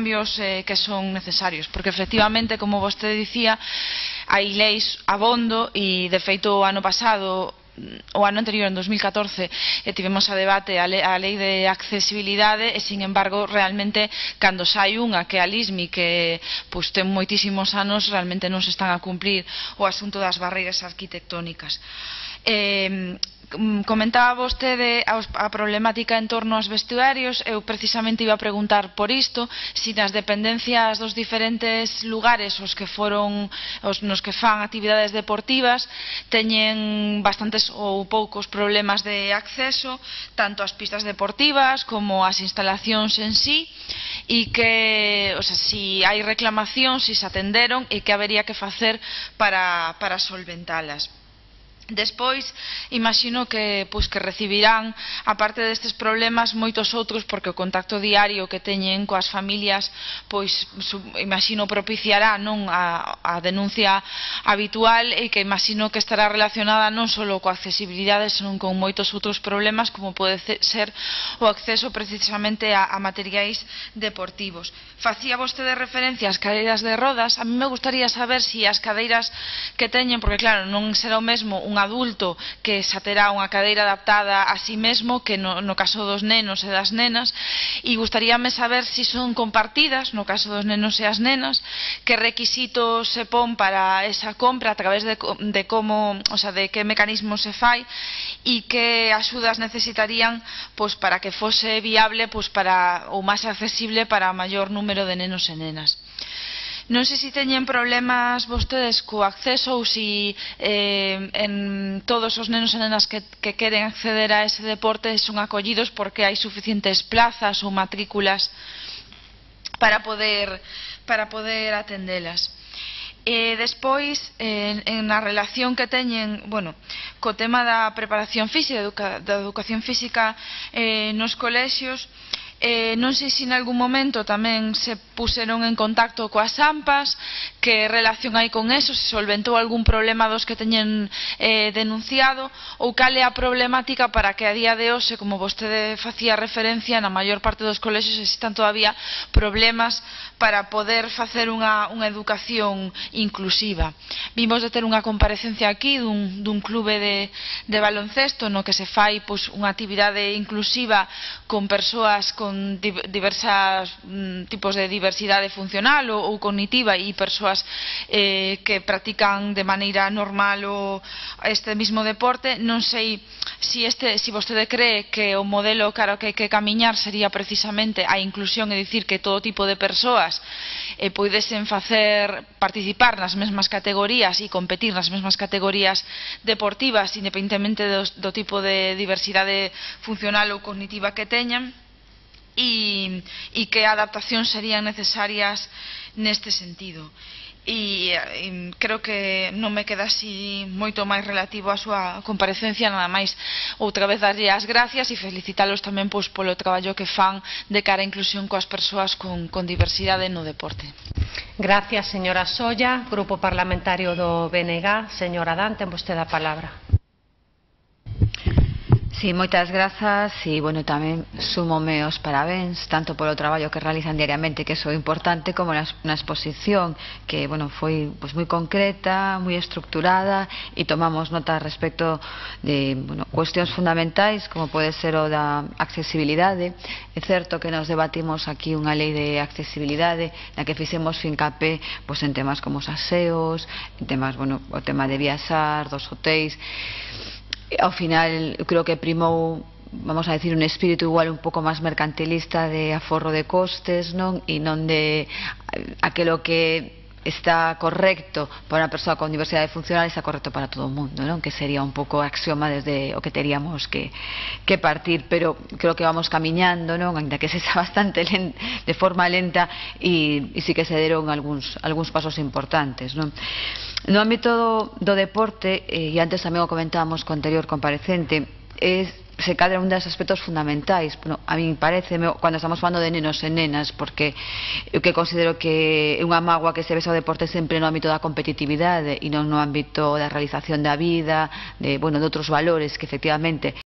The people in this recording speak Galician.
cambios que son necesarios, porque efectivamente, como vostede dicía, hai leis abondo e de feito o ano pasado, o ano anterior, en 2014, tivemos a debate a lei de accesibilidade e, sin embargo, realmente, cando sai unha que é a LISMI, que ten moitísimos anos, realmente non se están a cumplir o asunto das barreiras arquitectónicas. Comentaba vostede a problemática en torno aos vestuarios. Eu precisamente iba a preguntar por isto, se nas dependencias dos diferentes lugares nos que fan actividades deportivas teñen bastantes ou poucos problemas de acceso, tanto ás pistas deportivas como ás instalacións en sí, e que, se hai reclamacións, se atenderon e que habería que facer para solventalas. Despois, imagino que recibirán, aparte destes problemas, moitos outros, porque o contacto diario que teñen coas familias, imagino propiciará a denuncia habitual, e que imagino que estará relacionada non só coa accesibilidade, senón con moitos outros problemas, como pode ser o acceso precisamente a materiais deportivos. Facía vostede referencia ás cadeiras de rodas. A mí me gustaría saber se as cadeiras que teñen, porque claro, non será o mesmo un adulto que xa terá unha cadeira adaptada a si mesmo que no caso dos nenos e das nenas, e gustaríame saber se son compartidas no caso dos nenos e as nenas, que requisitos se pon para esa compra, a través de que mecanismo se fai, e que axudas necesitarían para que fose viable ou máis accesible para o maior número de nenos e nenas. Non sei se teñen problemas vostedes co acceso, ou se en todos os nenos e nenas que queren acceder a ese deporte son acollidos, porque hai suficientes plazas ou matrículas para poder atendelas. Despois, na relación que teñen co tema da preparación física, da educación física nos colexios, non sei se en algún momento tamén se puseron en contacto coas AMPAs, que relación hai con eso, se solventou algún problema dos que teñen denunciado, ou cal é a problemática para que a día de hoxe, como vostede facía referencia, na maior parte dos colexios existan todavía problemas para poder facer unha educación inclusiva. Vimos de ter unha comparecencia aquí dun clube de baloncesto no que se fai unha actividade inclusiva con persoas con diversos tipos de diversidade funcional ou cognitiva, e persoas que practican de maneira normal este mismo deporte. Non sei se vostede cree que o modelo cara que hai que camiñar sería precisamente a inclusión, é dicir, que todo tipo de persoas poidesen participar nas mesmas categorías e competir nas mesmas categorías deportivas, independentemente do tipo de diversidade funcional ou cognitiva que teñan, e que adaptacións serían necesarias neste sentido. E creo que non me queda así moito máis relativo á súa comparecencia, nada máis outra vez darlle as gracias e felicitalos tamén polo traballo que fan de cara á inclusión coas persoas con diversidade no deporte. Gracias, señora Solla. Grupo Parlamentario do BNG, señora Dan, ten vostede a palabra. Sí, moitas grazas, e, tamén súmome os parabéns, tanto polo traballo que realizan diariamente, que é importante, como na exposición, que, foi moi concreta, moi estructurada, e tomamos nota respecto de, cuestións fundamentais, como pode ser o da accesibilidade. É certo que nos debatimos aquí unha lei de accesibilidade, na que fixemos fincapé en temas como os aseos, en temas, o tema de viaxar, dos hotéis. Ao final, eu creo que primou, vamos a decir, un espírito igual un pouco máis mercantilista de aforro de costes, e non de aquilo que está correcto para unha persoa con diversidade funcional está correcto para todo o mundo, que sería un pouco axioma desde o que teríamos que partir, pero creo que vamos camiñando, ainda que se xa bastante de forma lenta, e sí que se deron algúns pasos importantes. No ámbito do deporte, e antes tamén o comentábamos co anterior comparecente, se cadra un dos aspectos fundamentais, a mí parece, cando estamos falando de nenos e nenas, porque eu que considero que é unha mágoa que se vexa o deporte sempre no ámbito da competitividade e non no ámbito da realización da vida, de outros valores que efectivamente